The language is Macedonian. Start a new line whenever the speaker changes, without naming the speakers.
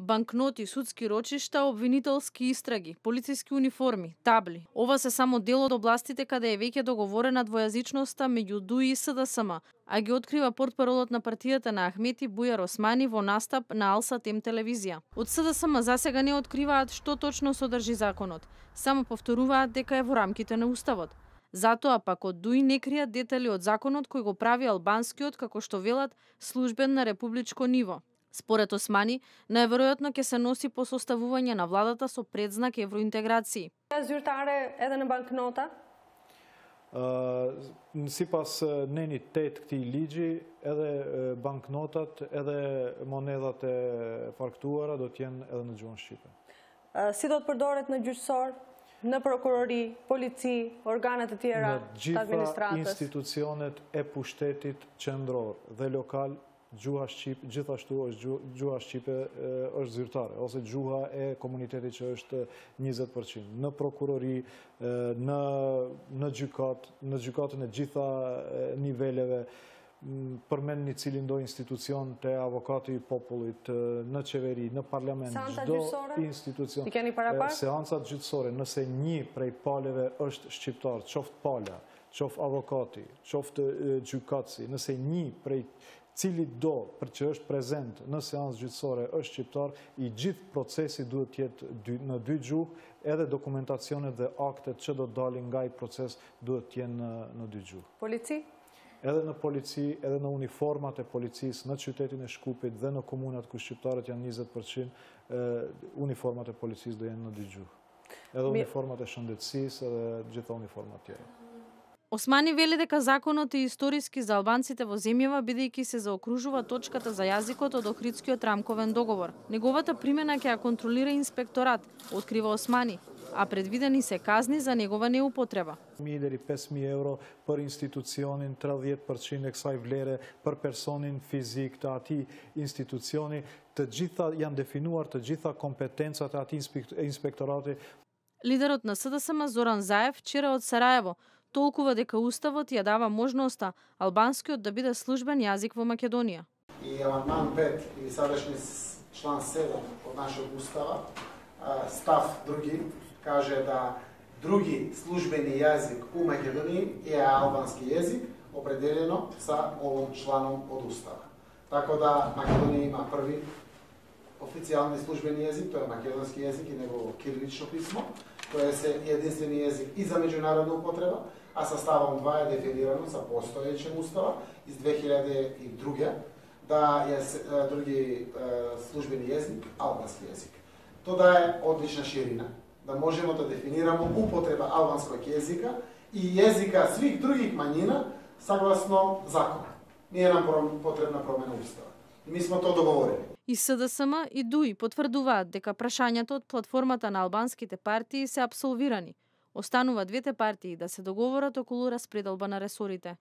Банкноти, судски рочишта, обвинителски истраги, полициски униформи, табли. Ова се само дел од областите каде е веќе договорена двојазичноста меѓу ДУИ и СДСМ, а ги открива портпаролот на партијата на Ахмети Бујар Османи во настап на Ал Сатем телевизија. Од СДСМ засега не откриваат што точно содржи законот, само повторуваат дека е во рамките на уставот. Затоа пак од ДУИ не кријат детали од законот кој го прави албанскиот, како што велат, службен на републичко ниво. Според Османи, најверојатно ќе се носи по составување на владата со предзнак евроинтеграција.
Zyrtare edhe në banknota?
Sipas nenit 8 këtij ligji, edhe banknotat, edhe monedat e faktuara do të jenë edhe në gjuhën shqipe.
Si do të përdoret në gjyqësor, në prokurori, polici, organet e tjera të administratës?
Në gjitha institucionet e pushtetit qendror dhe lokal, gjuha shqipe, gjithashtu është gjuha shqipe është zyrtare, ose gjuha e komunitetit që është 20%. Në prokurori, në gjykatën e gjitha niveleve, përmend një cilin do institucion të avokati i popullit, në qeveri, në parlament, çdo institucion.
I keni paraparë?
Seancat gjyqësore, nëse një prej paleve është shqiptar, qoftë pala, qoftë avokati, qoftë gjykatësi, nëse një prej cili do për që është prezent në seancë gjyqësore është shqiptar, i gjithë procesi duhet jetë në 2 gjuhë, edhe dokumentacionet dhe aktet që do të dalin nga i proces duhet jenë në 2 gjuhë.
Polici?
Edhe në polici, edhe në uniformat e policisë, në qytetin e Shkupit dhe në komunat ku shqiptarët janë 20%, uniformat e policisë do jenë në 2 gjuhë. Edhe uniformat e shëndetësisë edhe gjitha uniformat tjera.
Османи вели дека законот е историски за албанците во земјава бидејќи се заокружува точката за јазикот од Охридскиот рамковен договор. Неговата примена ќе ја контролира инспекторат, открива Османи, а предвидени се казни за негова неупотреба.
1.000 deri 5.000 euro për institucionin, 30% e kësaj vlere për personin fizik të atij institucioni, të gjitha janë definuar të gjitha kompetencat e atij inspektorati.
Лидерот на СДСМ Зоран Заев вчера од Сараево толкува дека уставот ја дава можноста албанскиот да биде службен јазик во Македонија.
И амандман 5 или садашни члан 7 од нашиот устава, став други, каже да други службени јазик у Македонија е албански јазик, определено са овим чланом од устава. Така да Македонија има први официјални службени јазик, тоа е македонски јазик и негово кирилично писмо, тоа е единствени јазик и за меѓународна употреба, а составом 2 е дефинирано за постоечен устава из 2002 да е други службени јазик, албански јазик. Тоа е одлична ширина, да можеме да дефинираме употреба албанскog јазика и јазика свих других мањина согласно закон. Не е нам потребна промена устава. И ми сме тоа договорени.
И СДСМ и ДУИ потврдуваат дека прашањата од платформата на албанските партии се апсолвирани. Останува двете партии да се договорат околу распределба на ресорите.